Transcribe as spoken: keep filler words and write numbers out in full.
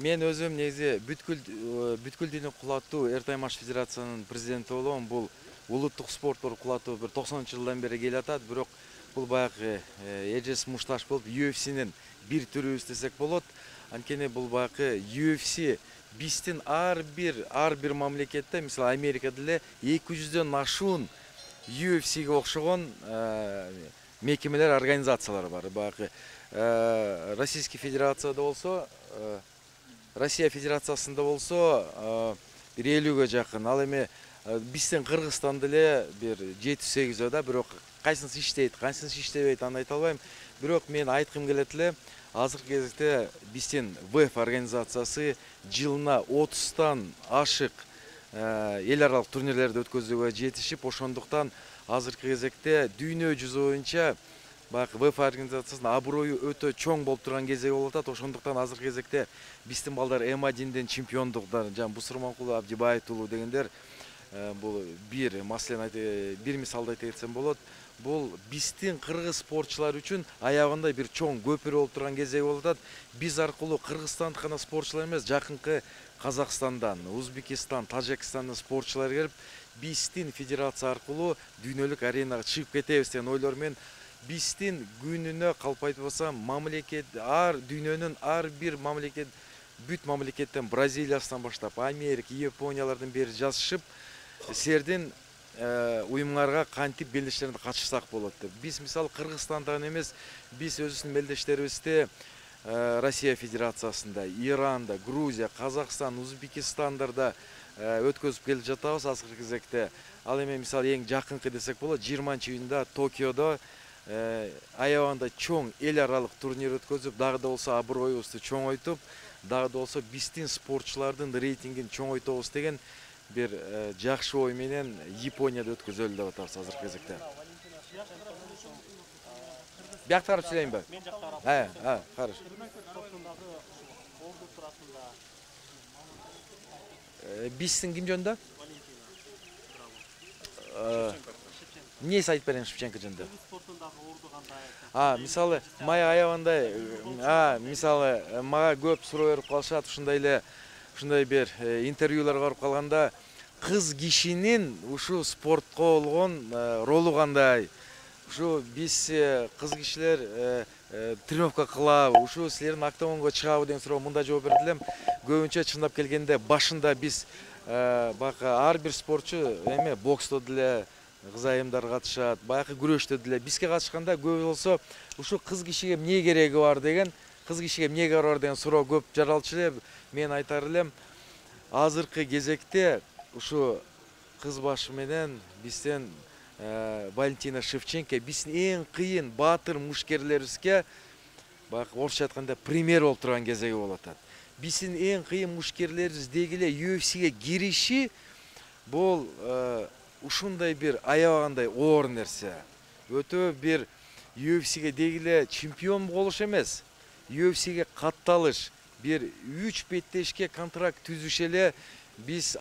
Мен өзüm негизи бүткүл бүткүл дүйнө кулаттуу Эртаймаш федерациянын президенти болгом. Бул улуттук спорттор кулаттуу бир токсонунчу жылдан бери келатат. Бирок бул баягы эжес мушташ болуп ю эф синин бир түрүбүз десек болот. Анткени бул баягы ю эф си биздин ар бир ар бир мамлекетте, мисалы Америкада эле эки жүздөн ашуун ю эф сиге окшогон мекемелер, организациялар бар. Баягы Российский Федерацияда болсо, Россия Федерациясында болсо бир элүүгө жакын. Ал эми биздин Кыргызстанда эле бир жети сегизөө да, бирок кайсынысы иштейт, кайсынысы иштебейт, аны айта албайм. Бирок мен айткым келет эле, азыркы кезекте биздин вэ эф организациясы жылына отуздан ашык эл аралык турнирлерди өткөзүүгө жетишип, ошондуктан азыркы кезекте дүйнө жүзү боюнча баягы вэ эф организациясынын аброю өтө чоң болуп турган кезеги болуп атат. Ошондуктан азыркы кезекте биздин балдар эм одинден чемпиондуктар, жана Бусурманкулов, Абдибаев уулу дегендер, бул бир маселени бир мисалды айта кетсем болот. Бул биздин кыргыз спортчулар үчүн аябагында бир чоң көпүрө болуп турган кезеги болуп атат. Биз аркылуу кыргызстандык гана спортчулар эмес, жакынкы Казакстандан, Узбекистан, Тажикстандын спортчулары келип, биздин федерация аркылуу дүйнөлүк аренага чыгып кетебиз деген ойлор менен биздин күнүнө калп айтпасам мамлекет, ар дүйнөнүн ар бир мамлекет, бүт мамлекеттен Бразилиясынан баштап Америка, Япониялардын бери жазышып, силердин уюмуңарга кантип белдештеринде катышсак болот деп. Биз мисалы Кыргызстанда эмес, биз өзүбүздүн белдештерибизди Россия Федерациясында, Иранда, Грузия, Казакстан, Узбекистандарда өткөзүп келип жатабыз азыркы кезекте. Ал эми мисалы эң жакынкы десек болот, жыйырманчы июнда Токиодо аябагында чоң эл аралык турнир өткөзүп, дагы да болсо аброюбузду чоңойтуп, дагы да болсо биздин спортчулардын рейтингин чоңойтобуз деген бир жакшы ой менен Японияда өткөзөлү деп атабыз азыркы кезекте. Биякта карап сүйлөйүнбү? Мен жакта карап. Э, э, караш. Биздин ким жөнүндө? Эмнеси айтып берейин Шевченко жөнүндө? А, мисалы, мага аябагандай, а, мисалы, мага көп суроо берип калышат, ушундай эле, ушундай бир интервьюлар барып калганда, кыз кишинин ушу спортко болгон ролу кандай? Ушу биз кыз кишилер тренировка кылабы, ушу силердин октогонго чыгабы деген суроо мындай жооп берди элем. Көбүнчө чындап келгенде башында биз баягы ар бир спортчу эме боксто деле кыз айымдар катышат, баягы күрөштө деле бизге катышканда көбү болсо ушу кыз кишиге эмне кереги бар деген, кыз кишиге эмне кереги бар деген суроо көп жаралчу эле. Мен айтар элем, азыркы кезекте ушу кыз башы менен бизден Валентина Шевченко биздин эң кыйын баатыр мушкерлерибизге баягы орусча айтканда пример болуп турган кезеги болуп атат. Биздин эң кыйын мушкерлерибиз деги эле ю эф сиге кириши бул ушундай бир аябагандай оор нерсе. Өтө бир ю эф сиге деги эле чемпион болуш эмес, ю эф сиге катталыш, бир үч беттешке контракт түзүш эле биз